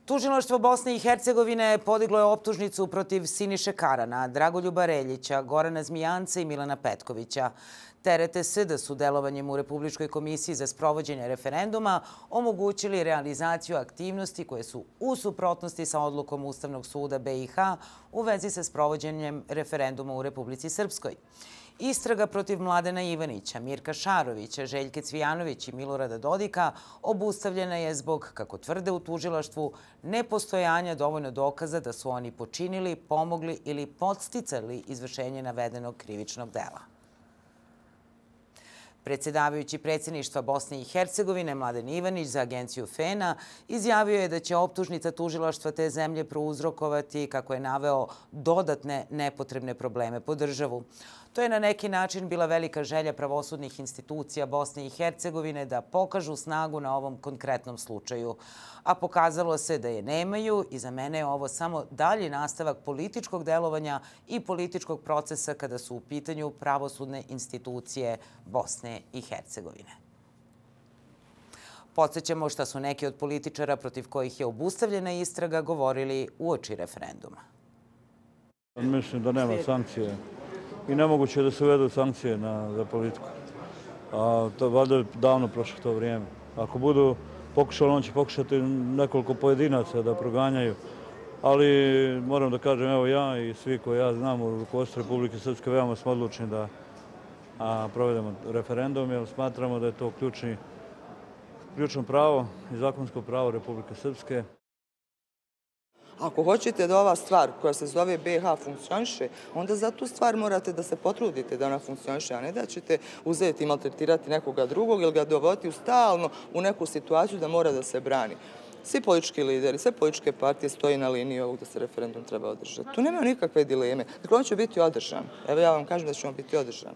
Tužilaštvo Bosne i Hercegovine podiglo je optužnicu protiv Siniše Karana, Dragoljuba Reljića, Gorana Zmijanca i Milana Petkovića. Terete se da su delovanjem u Republičkoj komisiji za sprovođenje referenduma omogućili realizaciju aktivnosti koje su u suprotnosti sa odlukom Ustavnog suda BiH u vezi sa sprovođenjem referenduma u Republici Srpskoj. Istraga protiv Mladena Ivanića, Mirka Šarovića, Željke Cvijanović i Milorada Dodika obustavljena je zbog, kako tvrde u tužilaštvu, nepostojanja dovoljno dokaza da su oni počinili, pomogli ili podsticali izvršenje navedenog krivičnog dela. Predsjedavajući predsjedništva Bosne i Hercegovine Mladen Ivanić za agenciju FENA izjavio je da će optužnica tužilaštva te zemlje prouzrokovati, kako je naveo, dodatne nepotrebne probleme po državu. To je na neki način bila velika želja pravosudnih institucija Bosne i Hercegovine da pokažu snagu na ovom konkretnom slučaju. A pokazalo se da je nemaju i za mene je ovo samo dalji nastavak političkog delovanja i političkog procesa kada su u pitanju pravosudne institucije Bosne i Hercegovine. Podsjećamo šta su neki od političara protiv kojih je obustavljena istraga govorili uoči referenduma. Mislim da nema sankcije i nemoguće je da se uvedu sankcije za politiku. To valjda je davno prošlo to vrijeme. Ako budu pokušali, on će pokušati nekoliko pojedinaca da proganjaju. Ali moram da kažem, evo ja i svi koji ja znam u rukovodstvu Republike Srpske veoma smo odlučni da provedemo referendum, jer smatramo da je to ključno pravo i zakonsko pravo Republike Srpske. Ako hoćete da ova stvar koja se zove BiH funkcioniše, onda za tu stvar morate da se potrudite da ona funkcioniše, a ne da ćete uzeti i maltretirati nekoga drugog ili ga dovoditi stalno u neku situaciju da mora da se brani. Svi politički lideri, sve političke partije stoji na liniji ovog da se referendum treba održati. Tu nema nikakve dileme. Dakle, on će biti održan. Evo ja vam kažem da će on biti održan.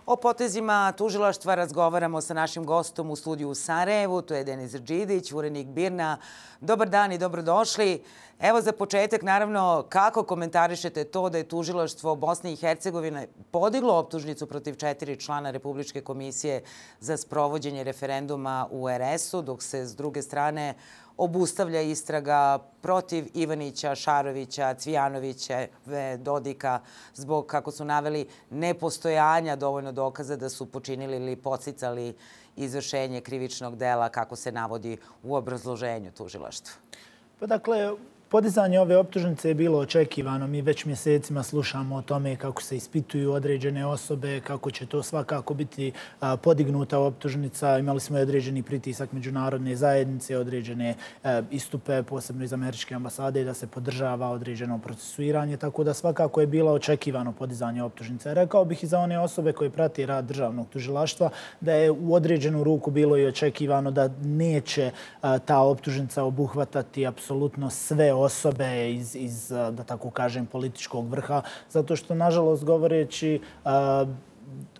O potezima tužilaštva razgovaramo sa našim gostom u studiju u Sarajevu. To je Denis Rđidić, urednik BIRN-a. Dobar dan i dobrodošli. Evo za početak, naravno, kako komentarišete to da je tužilaštvo Bosne i Hercegovine podiglo optužnicu protiv 4 člana Republičke komisije za sprovođenje referenduma u RS-u, dok se s druge strane obustavlja istraga protiv Ivanića, Šarovića, Cvijanovića, Dodika zbog, kako su naveli, nepostojanja dovoljno dokaza da su počinili ili podsticali izvršenje krivičnog dela, kako se navodi u obrazloženju tužilaštva? Pa dakle, podizanje ove optužnice je bilo očekivano. Mi već mjesecima slušamo o tome kako se ispituju određene osobe, kako će to svakako biti podignuta optužnica. Imali smo i određeni pritisak međunarodne zajednice, određene istupe, posebno iz američke ambasade, da se podržava određeno procesuiranje, tako da svakako je bilo očekivano podizanje optužnice. Rekao bih i za one osobe koje prati rad državnog tužilaštva da je u određenu ruku bilo i očekivano da neće ta optužnica obuhvatati apsolutno sve osobe iz, da tako kažem, političkog vrha, zato što, nažalost, govoreći,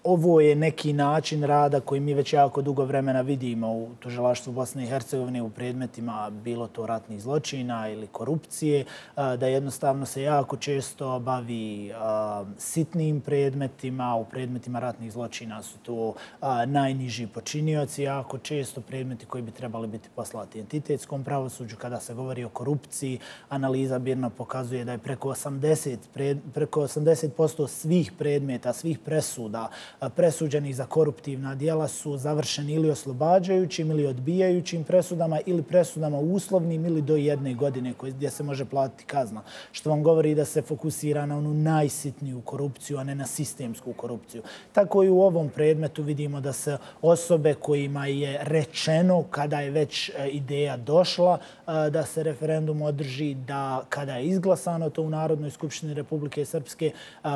ovo je neki način rada koji mi već jako dugo vremena vidimo u tužilaštvu Bosne i Hercegovine u predmetima, bilo to ratnih zločina ili korupcije, da jednostavno se jako često bavi sitnim predmetima. U predmetima ratnih zločina su to najniži počinioci, jako često predmeti koji bi trebali biti poslati entitetskom pravosuđu. Kada se govori o korupciji, analiza BIRN-a pokazuje da je preko 80% svih predmeta, svih presuda presuđenih za koruptivna djela su završeni ili oslobađajućim ili odbijajućim presudama ili presudama uslovnim ili do 1 godine gdje se može platiti kazna. Što vam govori da se fokusira na onu najsitniju korupciju, a ne na sistemsku korupciju. Tako i u ovom predmetu vidimo da se osobe kojima je rečeno kada je već ideja došla da se referendum održi, da kada je izglasano to u Narodnoj skupštini Republike Srpske,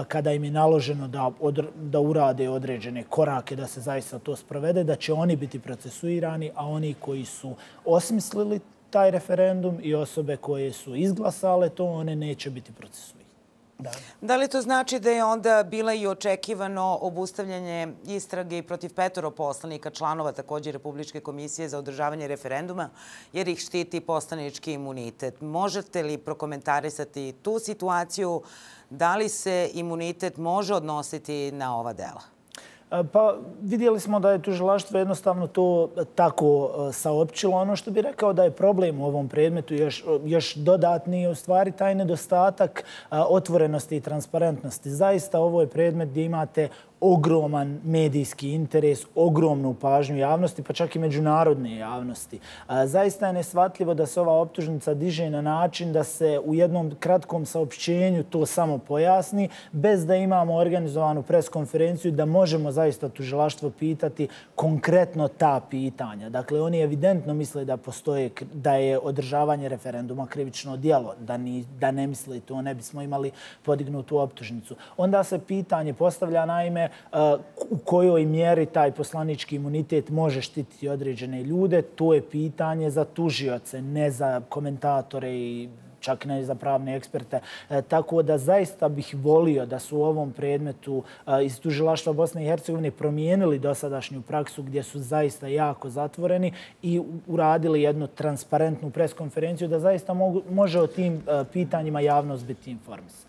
kada im je naloženo da urade određene korake da se zaista to sprovede, da će oni biti procesuirani, a oni koji su osmislili taj referendum i osobe koje su izglasale to, one neće biti procesuirani. Da li to znači da je onda bila i očekivano obustavljanje istrage protiv 5 poslanika, članova također Republičke komisije za održavanje referenduma, jer ih štiti poslanički imunitet? Možete li prokomentarisati tu situaciju? Da li se imunitet može odnositi na ova dela? Pa vidjeli smo da je tužilaštvo jednostavno to tako saopćilo. Ono što bih rekao da je problem u ovom predmetu još dodatni je u stvari taj nedostatak otvorenosti i transparentnosti. Zaista ovo je predmet gdje imate ogroman medijski interes, ogromnu pažnju javnosti, pa čak i međunarodne javnosti. Zaista je neshvatljivo da se ova optužnica diže na način da se u jednom kratkom saopćenju to samo pojasni, bez da imamo organizovanu preskonferenciju da možemo zaista tužilaštvo pitati konkretno ta pitanja. Dakle, oni evidentno misle da je održavanje referenduma krivično djelo. Da ne misle to, ne bismo imali podignutu optužnicu. Onda se pitanje postavlja naime u kojoj mjeri taj poslanički imunitet može štititi određene ljude. To je pitanje za tužioce, ne za komentatore i čak ne za pravne eksperte. Tako da zaista bih volio da su u ovom predmetu iz tužilaštva Bosne i Hercegovine promijenili dosadašnju praksu gdje su zaista jako zatvoreni i uradili jednu transparentnu preskonferenciju da zaista može o tim pitanjima javnost biti informisana.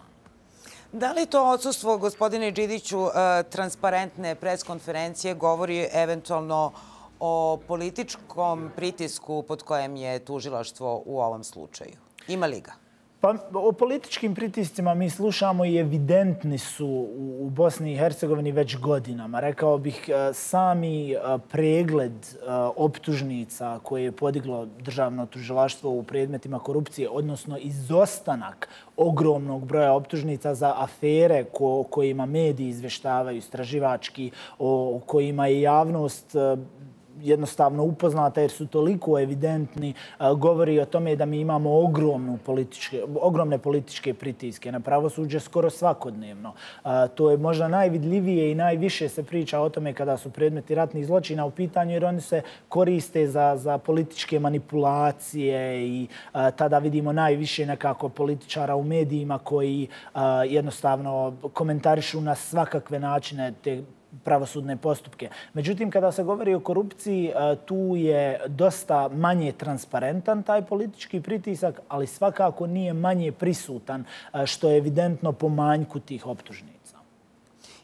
Da li to odsustvo, gospodine Đidiću, transparentne preskonferencije govori eventualno o političkom pritisku pod kojem je tužilaštvo u ovom slučaju? Ima li ga? Pa o političkim pritiscima mi slušamo i evidentni su u Bosni i Hercegovini već godinama. Rekao bih sami pregled optužnica koje je podiglo državno tužilaštvo u predmetima korupcije, odnosno izostanak ogromnog broja optužnica za afere o kojima mediji izveštavaju istraživački, o kojima je javnost jednostavno upoznata jer su toliko evidentni, govori o tome da mi imamo ogromne političke pritiske na pravosuđe skoro svakodnevno. To je možda najvidljivije i najviše se priča o tome kada su predmeti ratnih zločina u pitanju jer oni se koriste za političke manipulacije i tada vidimo najviše nekako političara u medijima koji jednostavno komentarišu na svakakve načine te pravosudne postupke. Međutim, kada se govori o korupciji, tu je dosta manje transparentan taj politički pritisak, ali svakako nije manje prisutan, što je evidentno po manjku tih optužnica.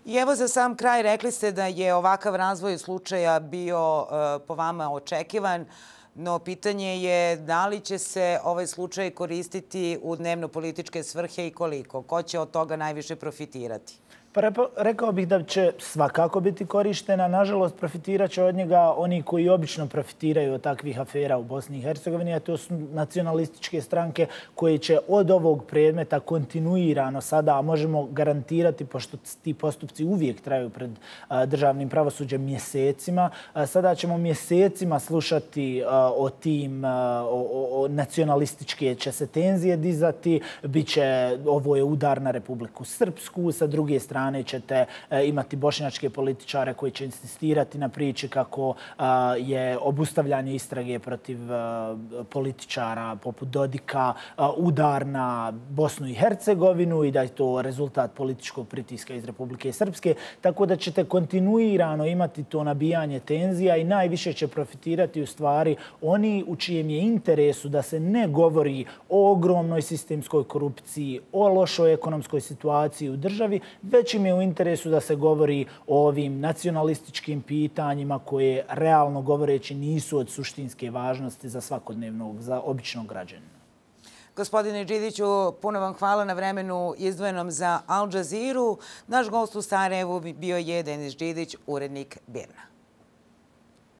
I evo za sam kraj rekli ste da je ovakav razvoj slučaja bio po vama očekivan, no pitanje je da li će se ovaj slučaj koristiti u dnevno-političke svrhe i koliko? Ko će od toga najviše profitirati? Pa rekao bih da će svakako biti korištena. Nažalost, profitirat će od njega oni koji obično profitiraju od takvih afera u Bosni i Hercegovini, a to su nacionalističke stranke koje će od ovog predmeta kontinuirano sada, a možemo garantirati, pošto ti postupci uvijek traju pred državnim pravosuđem mjesecima, sada ćemo mjesecima slušati o tim nacionalističke će se tenzije dizati, ovo je udar na Republiku Srpsku, sa druge strane ćete imati bošnjačke političare koji će insistirati na priči kako je obustavljanje istrage protiv političara poput Dodika udar na Bosnu i Hercegovinu i da je to rezultat političkog pritiska iz Republike Srpske. Tako da ćete kontinuirano imati to nabijanje tenzija i najviše će profitirati u stvari oni u čijem je interesu da se ne govori o ogromnoj sistemskoj korupciji, o lošoj ekonomskoj situaciji u državi, već im je u interesu da se govori o ovim nacionalističkim pitanjima koje realno govoreći nisu od suštinske važnosti za svakodnevnog, za običnog građanina. Gospodine Đidiću, puno vam hvala na vremenu izdvojenom za Al Jazeeru. Naš gost u Sarajevu bio je Denis Đidić, urednik BIRN-a.